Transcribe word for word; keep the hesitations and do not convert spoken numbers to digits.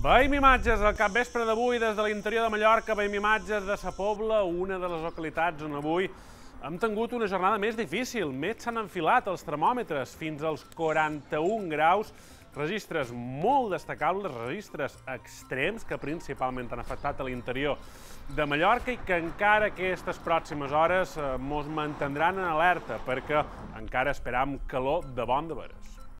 Veiem imatges al capvespre d'avui des de l'interior de Mallorca, veiem imatges de Sa Pobla, una de les localitats on avui hem tingut una jornada més difícil. Més s'han enfilat els termòmetres fins als quaranta-un graus, registres molt destacables, registres extrems que principalment han afectat a l'interior de Mallorca i que encara aquestes pròximes hores mos mantindran en alerta perquè encara esperam calor de bon de veres.